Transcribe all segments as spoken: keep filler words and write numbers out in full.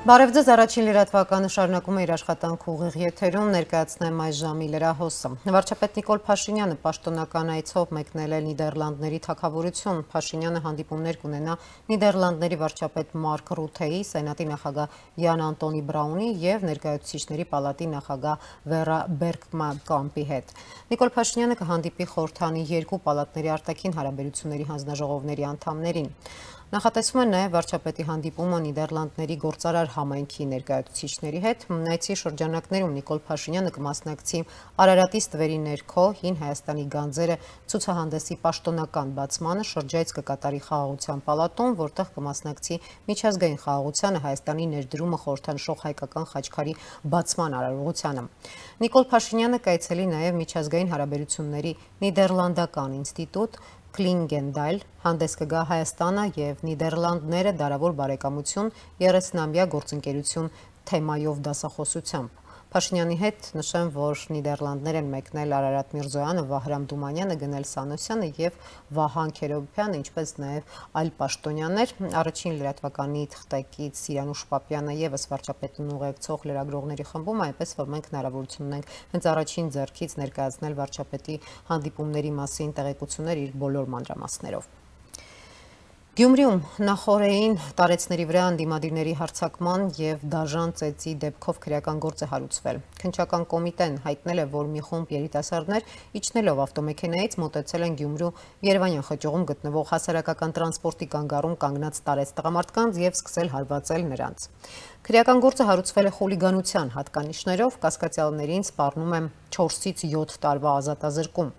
Բարև ձեզ, առաջին լրատվականը շարունակում է իր աշխատանքը ուղիղ եթերում, ներկայացնեմ այս ժամի լրահոսը։ Վարչապետ Նիկոլ Փաշինյանը պաշտոնական այցով մեկնել է Նիդերլանդների թագավորություն։ Փաշինյանը հանդիպումներ կունենա Նիդերլանդների վարչապետ Մարկ Ռութեի, Սենատի նախագահ Յան Անտոնի Բրաունի և Ներկայացուցիչների պալատի նախագահ Վերա Բերգկամպի հետ։ Նիկոլ Փաշինյանը կհանդիպի խորհրդանի երկու պալատների արտաքին հարաբերությունների հանձնաժողովների անդամներին։ Նախատեսվում է նաև վարչապետի հանդիպումը Նիդերլանդների գործարար համայնքի ներկայացուցիչների հետ։ Այցի շրջանակներում Նիկոլ Փաշինյանը կմասնակցի Արարատի ստվերի ներքո հին Հայաստանի գանձերը ցուցահանդեսի պաշտոնական բացմանը, շրջայց կկատարի Խաղաղության պալատում, որտեղ կմասնակցի միջազգային խաղաղությանը Հայաստանի ներդրումը խորհրդանշող հայկական խաչքարի բացման արարողությանը։ Նիկոլ Փաշինյանը կայցելի նաև միջազգային հարաբերությունների Նիդերլանդական ինստիտուտ Կլինգենդայլ, հանդես կգա Հայաստանը և Նիդերլանդները դարավոր բարեկամություն երեսնամյա գործընկերություն թեմայով դասախոսությամբ։ Փաշինյանի հետ նշեմ, որ Նիդերլանդներ են մեկնել Արարատ Միրզոյանը, Վահրամ Դումանյանը, Գնել Սանոսյանը և Վահան Քերոբյանը, ինչպես նաև այլ պաշտոնյաներ։ Առաջին լրատվականի թղթակից Սիրանուշ Պապյանը ևս վարչապետին ուղեկցող լրագրողների խմբում, այնպես որ մենք հնարավորություն ունենք հենց առաջին ձեռքից ներկայացնել վարչապետի հանդիպումների մասին տեղեկություններ իր բոլոր մանրամասներով։ Գյումրիում նախօրեին տարեցների վրա ընդդիմադիրների հարձակման և դաժան ծեծի դեպքով քրեական գործ է հարուցվել։ Քննչական կոմիտեն հայտնել է, որ մի խումբ երիտասարդներ իջնելով ավտոմեքենայից մոտեցել են Գյումրու Երևանյան խճուղում գտնվող հասարակական տրանսպորտի կանգառում կանգնած տարեց տղամարդկանց և սկսել հարվածել նրանց։ Քրեական գործը հարուցվել է խուլիգանության հատկանիշներով, կասկածյալներին սպառնում է չորսից յոթ տարվա ազատազրկում։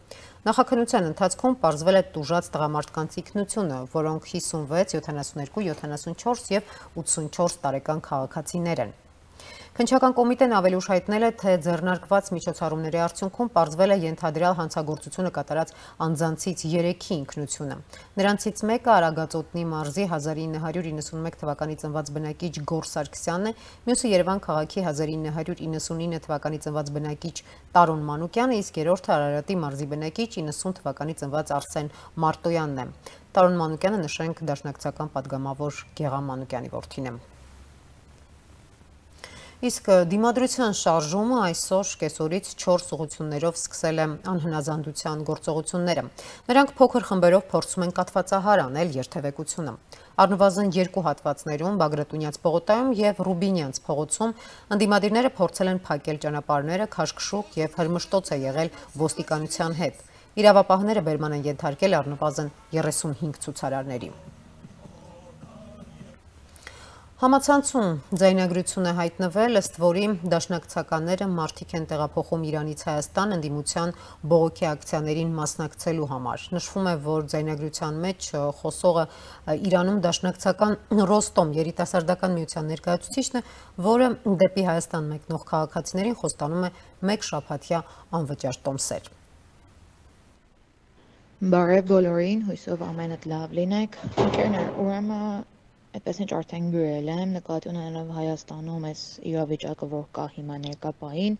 Նախաքննության ընթացքում պարզվել է տուժած տղամարդկանց ինքնությունը, որոնք հիսունվեց, յոթանասունյոթ, յոթանասունչորս և ութսունչորս տարեկան քաղաքացիներ են։ Քննչական կոմիտեն ավելի ուշ հայտնել է, թե ձեռնարկված միջոցառումների արդյունքում պարզվել է ենթադրյալ հանցագործությունը կատարած անձանցից երեքի ինքնությունը։ Նրանցից մեկը Արագածոտնի մարզի հազար ինը հարյուր իննսունմեկ թվականի ծնված բնակիչ Գոր Սարգսյանն է, մյուսը Երևան քաղաքի հազար ինը հարյուր իննսունինը թվականի ծնված բնակիչ Տարոն Մանուկյանը, իսկ երրորդը Արարատի մարզի բնակիչ իննսուն թվականի ծնված Արսեն Մարտոյանն է։ Տարոն Մանուկյանը, նշենք, դաշնակցական պատգամավոր Գեղամ Մանուկյանի որդին է։ Իսկ դիմադրության շարժումը այսօր կեսօրից չորս ուղղություններով սկսել է անհնազանդության գործողությունները։ Նրանք փոքր խմբերով փորձում են կաթվածահար անել երթևեկությունը։ Առնվազն երկու հատվածներում Բագրատունյաց պողոտայում և Ռուբինյանց փողոցում ընդդիմադիրները փորձել են փակել ճանապարհները, քաշքշուկ և հրմշտոց է եղել ոստիկանության հետ։ Իրավապահները բերման են ենթարկել առնվազն երեսունհինգ ցուցարարների։ Համացանցում ձայնագրություն է հայտնվել, ըստ որի դաշնակցականները մարդիկ են տեղափոխում Իրանից Հայաստան ընդդիմության բողոքի ակցիաներին մասնակցելու համար։ Նշվում է, որ ձայնագրության մեջ խոսողը Իրանում դաշնակցական Ռոստոմ երիտասարդական միության ներկայացուցիչն է, որը դեպի Հայաստան մեկնող քաղաքացիներին խոստանում է մեկ շաբաթյա անվճար տոմսեր։ Բարև բոլորին, հույսով ամենդ լավ լինեք։ Ընկերներ, ուրեմն այդպես ինչ արդեն գրել եմ, նկատի ունենալով Հայաստանում այս իրավիճակը, որ կա հիմա ներկայապահին,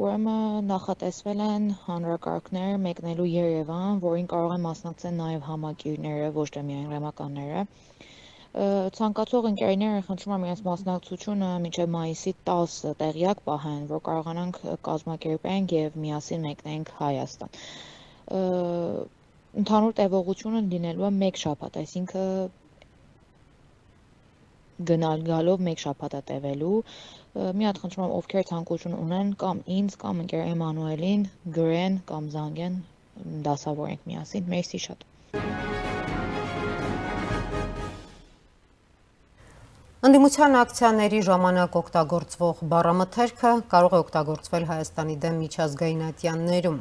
ուրեմն նախատեսվել են հանրակարգներ մեկնելու Երևան, որին կարող են մասնակցել նաև համակիրները, ոչ թե միայն ռեմականները։ Ցանկացող ընկերները խնդրում եմ իրենց մասնակցությունը մինչև մայիսի տասը տեղյակ պահեն, որ կարողանանք կազմակերպենք եւ միասին մեկնենք Հայաստան։ Ընդհանուր տևողությունը լինելու է մեկ շաբաթ, այսինքն գնալ գալով մեկ շաբաթ է տևելու։ Մի հատ խնդրում եմ, ովքեր ցանկություն ունեն, կամ ինձ, կամ ընկեր Էմանուելին գրեն կամ զանգեն, դասավորենք միասին։ Մերսի շատ։ Ընդդիմության ակցիաների ժամանակ օգտագործվող բառամթերքը կարող է օգտագործվել Հայաստանի դեմ միջազգային ատյաններում։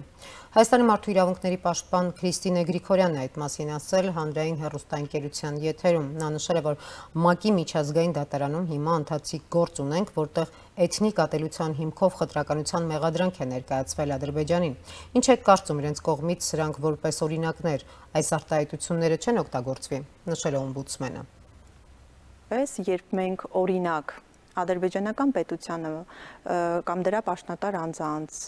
Հայաստանի մարդու իրավունքների պաշտպան Քրիստինե Գրիգորյանն է այդ մասին ասել հանրային հեռուստաընկերության եթերում։ Նա նշել է, որ ՄԱԿ-ի միջազգային դատարանում հիմա ընթացիկ գործ ունենք, որտեղ էթնիկ ատելության հիմքով խտրականության մեղադրանք է ներկայացվել Ադրբեջանին։ Ինչ է կարծում իրենց կողմից սրանք որպես օրինակներ, այս արտահայտությունները չեն օգտագործվի, նշել է օմբուդսմենը։ Երբ մենք օրինակ ադրբեջանական պետությանը կամ դրա պաշտոնատար անձանց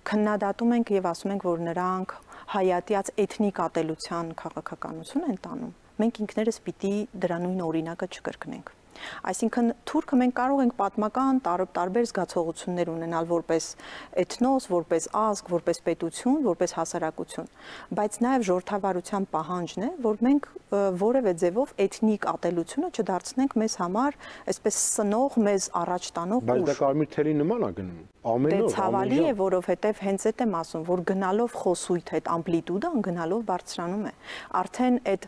քննադատում ենք եւ ասում ենք, որ նրանք հայատյաց էթնիկ ատելության քաղաքականություն են տանում, մենք ինքներս պիտի դրա նույն օրինակը չկրկնենք։ Այսինքն թուրքը մենք կարող ենք պատմական տարբեր զգացողություններ ունենալ որպես էթնոս, որպես ազգ, որպես պետություն, որպես հասարակություն, բայց նաև ժողովրդավարության պահանջն է, որ մենք որևէ ձևով էթնիկ ատելությունը չդարձնենք մեզ համար այսպես սնող, մեզ առաջ տանող ուժ։ Բայց դա կարմիր թելի նման է գնում։ Ամեն օր, ցավալի է, որովհետև հենց այդ եմ ասում, որ գնալով խոսույթ այդ ամպլիտուդան գնալով բարձրանում է։ Արդեն այդ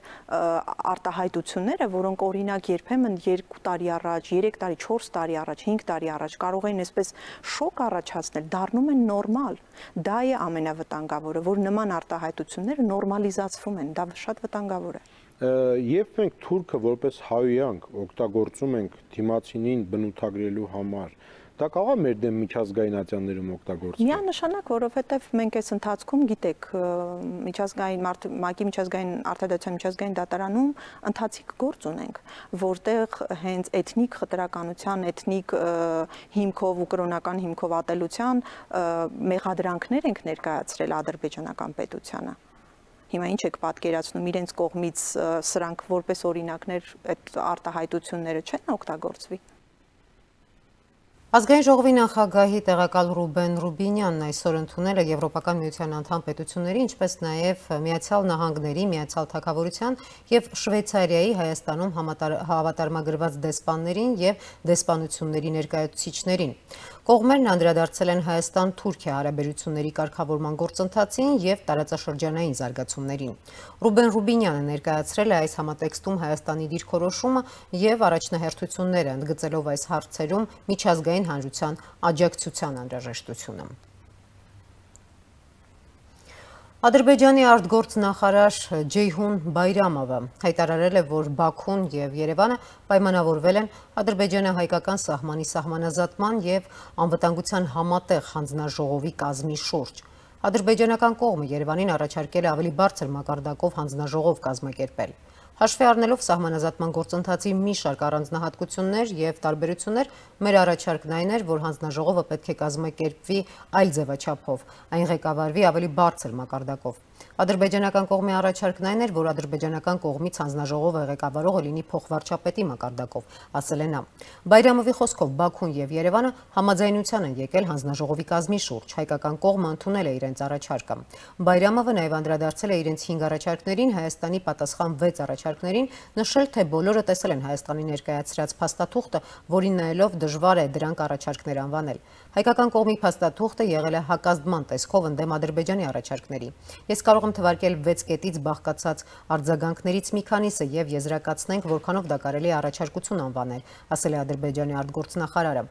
արտահայտությունները, որոնք օրինակ երբեմն երկու տարի առաջ, երեք տարի, չորս տարի առաջ, հինգ տարի առաջ կարող էին այսպես շոկ առաջացնել, դառնում են նորմալ։ Դա է ամենավտանգավորը, որ նման արտահայտությունները նորմալիզացվում են, դա շատ վտանգավոր է։ Երբ մենք թուրքը որպես հայոյանք օգտագործում ենք դիմացինին բնութագրելու համար, դա կարող է մեր դեմ միջազգայնացիաներում օգտագործվել։ Միանշանակ, որովհետև մենք այս ընթացքում գիտեք, միջազգային ՄԱԿ-ի միջազգային արտադրության միջազգային դատարանում ընթացիկ գործ ունենք, որտեղ հենց էթնիկ խտրականության, էթնիկ հիմքով ու կրոնական հիմքով ատելության մեղադրանքներ ենք ներկայացրել ադրբեջանական պետությանը։ Հիմա ինչ եք պատկերացնում, իրենց կողմից սրանք որպես օրինակներ այդ արտահայտությունները չեն օգտագործվի։ Ազգային ժողովի նախագահի տեղակալ Ռուբեն Ռուբինյանն այսօր ընդունել է Եվրոպական միության անդամ պետությունների, ինչպես նաև Միացյալ Նահանգների, Միացյալ Թագավորության և Շվեյցարիայի Հայաստանում հավատարմագրված դեսպաններին և դեսպանությունների ներկայացուցիչներին։ Կողմերն անդրադարձել են Հայաստան-Թուրքիա հարաբերությունների կարգավորման գործընթացին և տարածաշրջանային զարգացումներին։ Ռուբեն Ռուբինյանը ներկայացրել է այս համատեքստում Հայաստանի դիրքորոշումը և առաջնահերթությունները, ընդգծելով այս հարցերում միջազգային հանրության աջակցության անհրաժեշտությունը։ Ադրբեջանի արտգործնախարար Ջեյհուն Բայրամովը հայտարարել է, որ Բաքուն և Երևանը պայմանավորվել են ադրբեջանա-հայկական սահմանի սահմանազատման և անվտանգության համատեղ հանձնաժողովի կազմի շուրջ։ Ադրբեջանական կողմը Երևանին առաջարկել է ավելի բարձր մակարդակով հանձնաժողով կազմակերպել։ Հաշվի առնելով սահմանազատման գործընթացի մի շարք առանձնահատկություններ և տարբերություններ, մեր առաջարկն այն էր, որ հանձնաժողովը պետք է կազմակերպվի այլ ձևաչափով, այն ղեկավարվի ավելի բարձր մակարդակով։ Ադրբեջանական կողմի առաջարկն այն էր, որ ադրբեջանական կողմից հանձնաժողովը ղեկավարողը լինի փոխվարչապետի մակարդակով, ասել է նա։ Բայրամովի խոսքով Բաքուն և Երևանը համաձայնության են եկել հանձնաժողովի կազմի շուրջ, հայկական կողմը ընդունել է իրենց առաջարկը։ Բայրամովը նաև անդրադարձել է իրենց հինգ առաջարկներին, Հայաստանի պատասխան վեց առաջարկներին, նշել, թե բոլորը տեսել են Հայաստանի ներկայացրած փաստաթուղթը, որին նայելով դժվար է դրանք առաջարկներ անվանել։ Հայկական կողմի փաստաթուղթը եղել է հակազդման տեսքով ընդդեմ Ադրբեջանի առաջարկների։ Ես կարող եմ թվարկել վեց կետից բաղկացած արձագանքներից մի քանիսը և եզրակացնենք, որքանով դա կարելի է առաջարկություն անվանել, ասել է Ադրբեջանի արտգործնախարարը։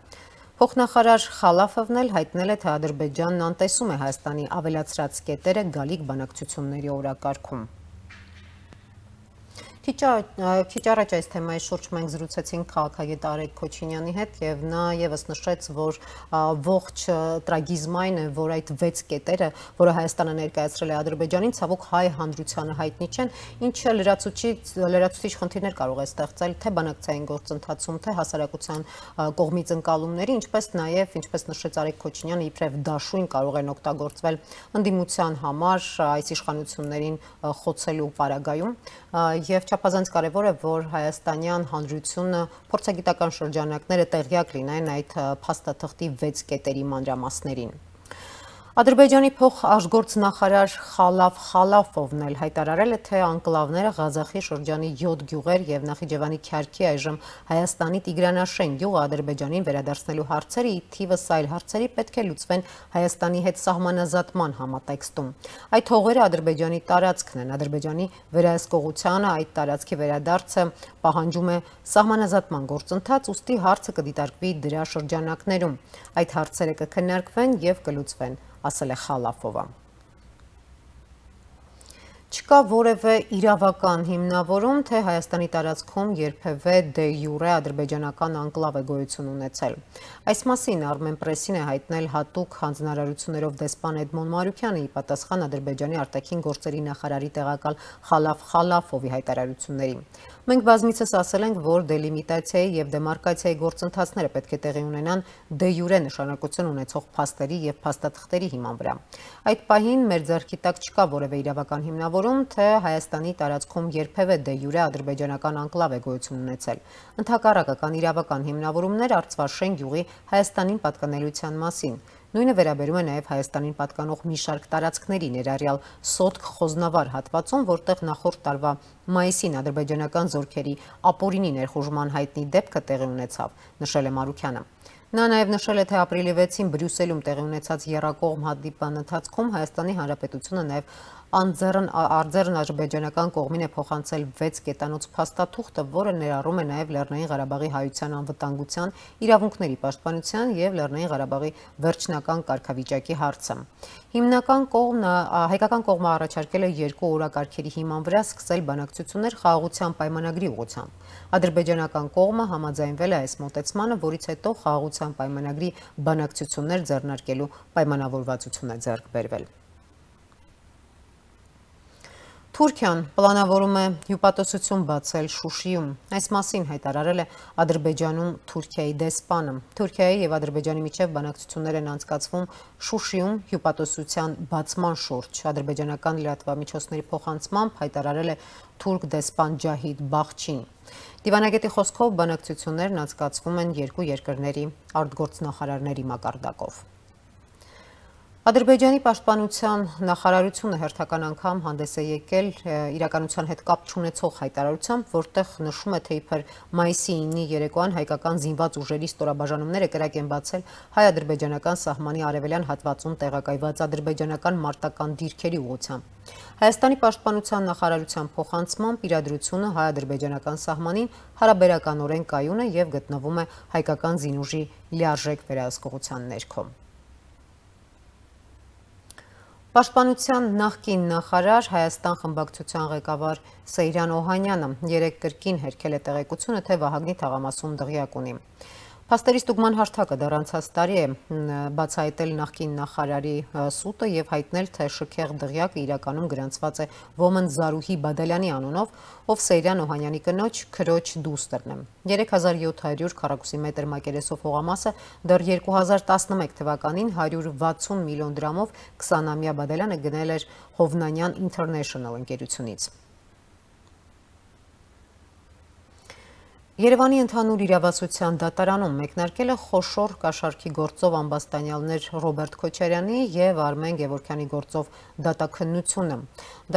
Փոխնախարար Խալաֆովն էլ հայտնել է, թե Ադրբեջանն անտեսում է Հայաստանի ավելացրած կետերը գալիք բանակցությունների օրակարգում։ Քիչ առաջ այս թեմայի շուրջ մենք զրուցեցինք քաղաքագետ Արեգ Քոչինյանի հետ և նա ևս նշեց, որ ողջ տրագիզմն այն է, որ այդ վեց կետերը, որը Հայաստանը ներկայացրել է Ադրբեջանին, ցավոք հայ հանրությանը հայտնի չեն, ինչը լրացուցիչ խնդիրներ կարող է ստեղծել թե բանակցային գործընթացում, թե հասարակության կողմից ընկալումների, ինչպես նաև, ինչպես նշեց Արեգ Քոչինյանը, իբրև դաշույն կարող են օգտագործվել ընդդիմության համար այս իշխանություններին խոցելու պարագայում և չափազանց կարևոր է, որ հայաստանյան հանրությունը փորձագիտական շրջանակները տեղյակ լինեն այդ փաստաթղթի վեց կետերի մանրամասներին։ Ադրբեջանի փոխարժգործնախարար Խալաֆ Խալաֆովն էլ հայտարարել է, թե անկլավները Ղազախի շրջանի յոթ գյուղեր և Նախիջևանի Քյարքի այժմ Հայաստանի Տիգրանաշեն գյուղը Ադրբեջանին վերադարձնելու հարցերը ի թիվս այլ հարցերի պետք է լուծվեն Հայաստանի հետ սահմանազատման համատեքստում։ Այդ հողերը Ադրբեջանի տարածքն են, Ադրբեջանի վերահսկողությանը այդ տարածքի վերադարձը պահանջում է սահմանազատման գործընթաց, ուստի հարցը կդիտարկվի դրա շրջանակներում։ Այդ հարցերը կքննարկվեն և կլուծվեն, ասել է Խալաֆովը։ Չկա որևէ իրավական հիմնավորում, թե Հայաստանի տարածքում երբևէ դե յուրե ադրբեջանական անկլավ է գոյություն ունեցել։ Այս մասին Armen Press-ին է հայտնել հատուկ հանձնարարություններով դեսպան Էդմոն Մարուքյանը ի պատասխան Ադրբեջանի արտաքին գործերի նախարարի տեղակալ Խալաֆ Խալաֆովի հայտարարություններին։ Մենք բազմիցս ասել ենք, որ դելիմիտացիայի եւ դեմարկացիայի գործընթացները պետք է տեղի ունենան դե յուրե նշանակություն ունեցող փաստերի եւ փաստաթղթերի հիման վրա։ Այդ պահին մեր ձեռքի տակ չկա որևէ իրավական հիմնավորում, թե Հայաստանի տարածքում երբևէ դե յուրե ադրբեջանական անկլավ է գոյություն ունեցել։ Ընդհակառակը կան իրավական հիմնավորումներ Արցվաշեն գյուղի Հայաստանին պատկանելիության մասին։ Նույնը վերաբերում է նաև Հայաստանին պատկանող մի շարք տարածքների, ներառյալ Սոտք Խոզնավար հատվածում, որտեղ նախորդ տարվա մայիսին ադրբեջանական զորքերի ապօրինի ներխուժման հայտնի դեպքը տեղի ունեցավ, նշել է Մարուքյանը։ Նա նաև նշել է, թե ապրիլի վեցին Բրյուսելում տեղի ունեցած եռակողմ հանդիպման ընթացքում Հայաստանի Հանրապետությունը նաև արձեռն ադրբեջանական կողմին է փոխանցել վեց կետանոց փաստաթուղթը, որը ներառում է նաև Լեռնային Ղարաբաղի հայության անվտանգության, իրավունքների պաշտպանության եւ Լեռնային Ղարաբաղի վերջնական կարգավիճակի հարցը։ Հիմնական կողմը հայկական կողմը առաջարկել է երկու օրակարգերի հիման վրա սկսել բանակցություններ խաղաղության պայմանագրի ուղղությամբ։ Ադրբեջանական կողմը համաձայնվել է այս մոտեցմանը, որից հետո խաղաղության պայմանագրի բանակցություններ ձեռնարկելու պայմանավորվածություն է ձեռք բերվել։ Թուրքիան պլանավորում է հյուպատոսություն բացել Շուշիում։ Այս մասին հայտարարել է Ադրբեջանում Թուրքիայի դեսպանը։ Թուրքիայի եւ Ադրբեջանի միջև բանակցություններ են անցկացվում Շուշիում հյուպատոսության բացման շուրջ։ Ադրբեջանական լրատվամիջոցների փոխանցմամբ հայտարարել է թուրք դեսպան Ջահիդ Բախչին։ Դիվանագետի խոսքով բանակցություններն անցկացվում են երկու երկրների արտգործնախարարների մակարդակով։ Ադրբեջանի պաշտպանության նախարարությունը հերթական անգամ հանդես է եկել իրականության հետ կապ չունեցող հայտարարությամբ, որտեղ նշում է, թե իբր մայիսի ինի երեկոյան հայկական զինված ուժերի ստորաբաժանումները կրակ են բացել հայ-ադրբեջանական սահմանի արևելյան հատվածում տեղակայված ադրբեջանական մարտական դիրքերի ուղղությամբ։ Հայաստանի պաշտպանության նախարարության փոխանցմամբ իրադրությունը հայ-ադրբեջանական սահմանին հարաբերականորեն կայուն է եւ գտնվում է հայկական զինուժի լիարժեք վերահսկողության ներքո։ Պաշտպանության նախկին նախարար Հայաստան խմբակցության ղեկավար Սեյրան Օհանյանը երեկ կրկին հերքել է տեղեկությունը, թե Վահագնի թաղամասում դղյակ ունի։ Փաստերի ստուգման հարթակը դեռ անցած տարի է բացահայտել նախկին նախարարի սուտը եւ հայտնել, թե շքեղ դղյակը իրականում գրանցված է Ոմն Զարուհի Բադալյանի անունով, ով Սեյրան Օհանյանի կնոջ քրոջ դուստրն է։ երեք հազար յոթ հարյուր քառակուսի մետր մակերեսով հողամասը դեռ երկու հազար տասնմեկ թվականին հարյուր վաթսուն միլիոն դրամով քսանամյա Բադալյանը գնել էր Հովնանյան International ընկերությունից։ Երևանի ընդհանուր իրավասության դատարանում մեկնարկել է խոշոր կաշառքի գործով ամբաստանյալներ Ռոբերտ Քոչարյանի եւ Արմեն Գևորգյանի գործով դատաքննությունը։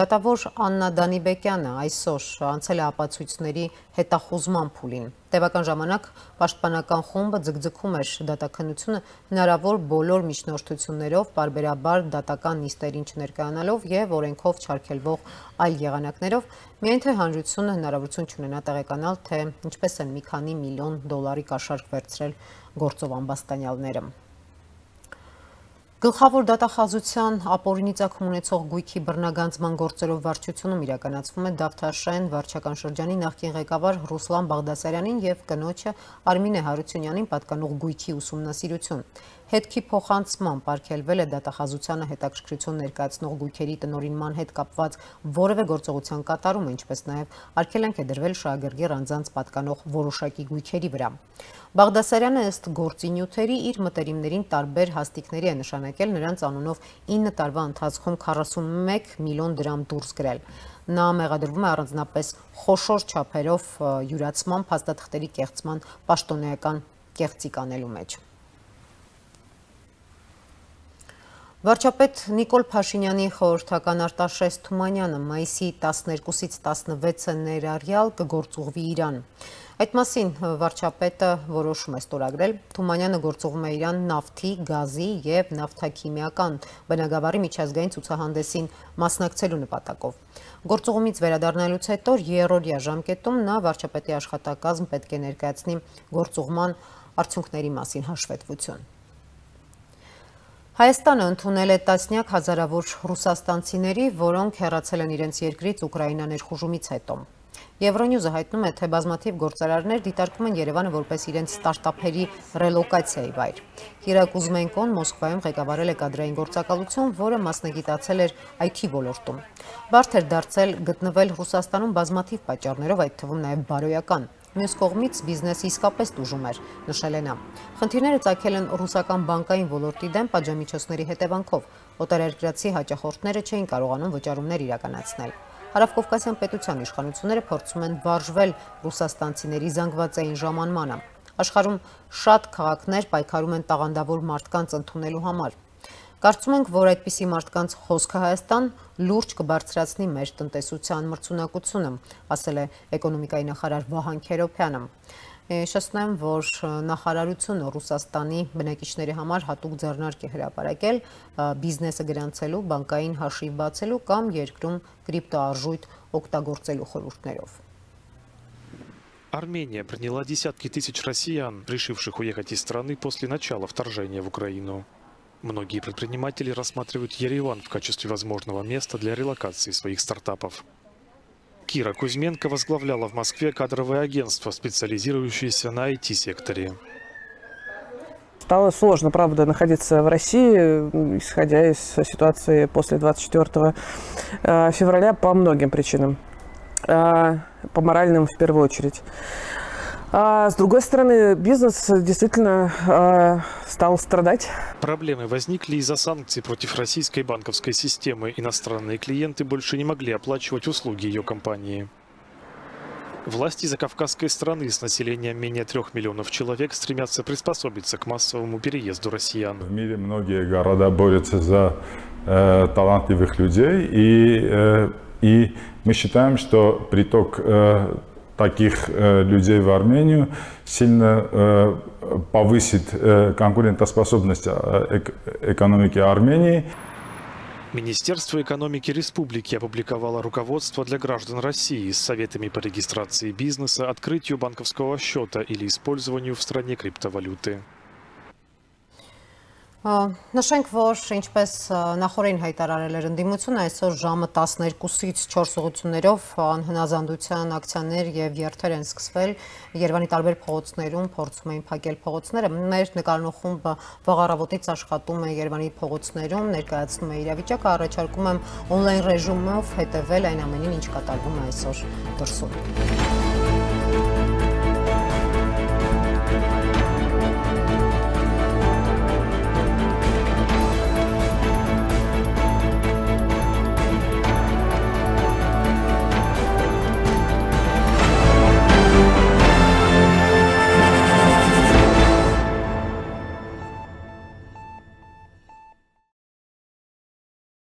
Դատավոր Աննա Դանիբեկյանը այսօր անցել է ապացույցների հետախուզման փուլին։ Տևական ժամանակ պաշտպանական խումբը ձգձգում էր դատաքննությունը հնարավոր բոլոր միջնորդություններով, պարբերաբար դատական նիստերին չներկայանալով եւ օրենքով չարգելվող այլ եղանակներով, միայն թե հանրությունը հնարավորություն չունենա տեղեկանալ, թե ինչպես են մի քանի միլիոն դոլարի կաշառք վերցրել գործով ամբաստանյալները։ Գլխավոր դատախազության ապօրինի ծագում ունեցող գույքի բռնագանձման գործերով վարչությունում իրականացվում է Դավթաշեն վարչական շրջանի նախկին ղեկավար Ռուսլան Բաղդասարյանին եւ կնոջը Արմինե Հարությունյանին պատկանող գույքի ուսումնասիրություն։ Հետքի փոխանցմամբ արգելվել է դատախազությանը հետաքրքրություն ներկայացնող գույքերի տնօրինման հետ կապված որևէ գործողության կատարումը, ինչպես նաև արգելանք է դրվել շահագրգիռ անձանց պատկանող որոշակի գույքերի վրա։ Բաղդասարյանը ըստ գործի նյութերի իր մտերիմներին տարբեր հաստիկների է նշանակել նրանց անունով ինը տարվա ընթացքում քառասունմեկ միլիոն դրամ դուրս գրել։ Նա մեղադրվում է առանձնապես խոշոր չափերով յուրացման, փաստաթղթերի կեղծման, պաշտոնեական կեղծիք անելու մեջ։ Վարչապետ Նիկոլ Փաշինյանի խորհրդական Արտաշես Թումանյանը մայիսի տասներկուսից տասնվեցը ներառյալ կգործուղվի Իրան։ Այդ մասին վարչապետը որոշում է ստորագրել։ Թումանյանը գործուղում է Իրան նավթի, գազի եւ նավթաքիմիական բնագավառի միջազգային ցուցահանդեսին մասնակցելու նպատակով։ Գործուղումից վերադառնալուց հետո երրորդյա ժամկետում նա վարչապետի աշխատակազմ պետք է ներկայացնի գործուղման արդյունքների մասին հաշվետվություն։ Հայաստանը ընդունել է տասնյակ հազարավոր ռուսաստանցիների, որոնք հեռացել են իրենց երկրից Ուկրաինա ներխուժումից հետո։ Euronews-ը հայտնում է, թե բազմաթիվ գործարարներ դիտարկում են Երևանը որպես իրենց ստարտափերի ռելոկացիայի վայր։ Կիրա Կուզմենկոն Մոսկվայում ղեկավարել է կադրային գործակալություն, որը մասնագիտացել էր այ թի ոլորտում։ Բարդ էր դարձել գտնվել Ռուսաստանում բազմաթիվ պատճառներով, այդ թվում նաև բարոյական։ Մյուս կողմից բիզնեսը իսկապես տուժում էր, նշել է նա։ Խնդիրները ծագել են ռուսական բանկային ոլորտի դեմ պատժամիջոցների հետևանքով։ Օտարերկրացի հաճախորդները չէին կարողանում վճարումներ իրականացնել։ Հարավկովկասյան պետության իշխանությունները փորձում են վարժվել ռուսաստանցիների զանգվածային ժամանմանը։ Աշխարհում շատ քաղաքներ պայքարում են տաղանդավոր մարդկանց ընդունելու համար։ Կարծում ենք, որ այդպիսի մարդկանց խոսքը Հայաստան լուրջ կբարձրացնի մեր տնտեսության մրցունակությունը, ասել է էկոնոմիկայի նախարար Վահան Քերոբյանը։ Շեշտեմ, որ նախարարությունը Ռուսաստանի բնակիչների համար հատուկ ձեռնարկ է հրապարակել բիզնեսը գրանցելու, բանկային հաշիվ բացելու կամ երկրում կրիպտոարժույթ օգտագործելու խորհուրդներով։ Армения приняла десятки тысяч россиян, решивших уехать из страны после начала вторжения в Украину. Многие предприниматели рассматривают Ереван в качестве возможного места для релокации своих стартапов. Кира Кузьменко возглавляла в Москве кадровое агентство, специализирующееся на ай ти-секторе. Стало сложно, правда, находиться в России, исходя из ситуации после двадцать четвёртого февраля по многим причинам. По моральным в первую очередь. А с другой стороны, бизнес действительно э, стал страдать. Проблемы возникли из-за санкций против российской банковской системы. Иностранные клиенты больше не могли оплачивать услуги ее компании. Власти закавказской страны с населением менее трех миллионов человек стремятся приспособиться к массовому переезду россиян. В мире многие города борются за э, талантливых людей, и, э, и мы считаем, что приток э, таких э, людей в Армению сильно э, повысит э, конкурентоспособность э, экономики Армении. Министерство экономики республики опубликовало руководство для граждан России с советами по регистрации бизнеса, открытию банковского счета или использованию в стране криптовалюты. Նշենք, որ ինչպես նախորդին հայտարարել էր ընդդիմությունը, այսօր ժամը տասներկուսից չորս ուղղություններով անհնազանդության ակցիաներ եւ երթեր են սկսվել Երևանի տարբեր փողոցներում, փորձում էին փակել փողոցները։ Մեր նկարնու խումբը վաղ առավոտից աշխատում է Երևանի փողոցներում, ներկայացնում է իրավիճակը, առաջարկում եմ օնլայն ռեժիմով հետևել այն ամենին, ինչ կատարվում է այսօր դրսում։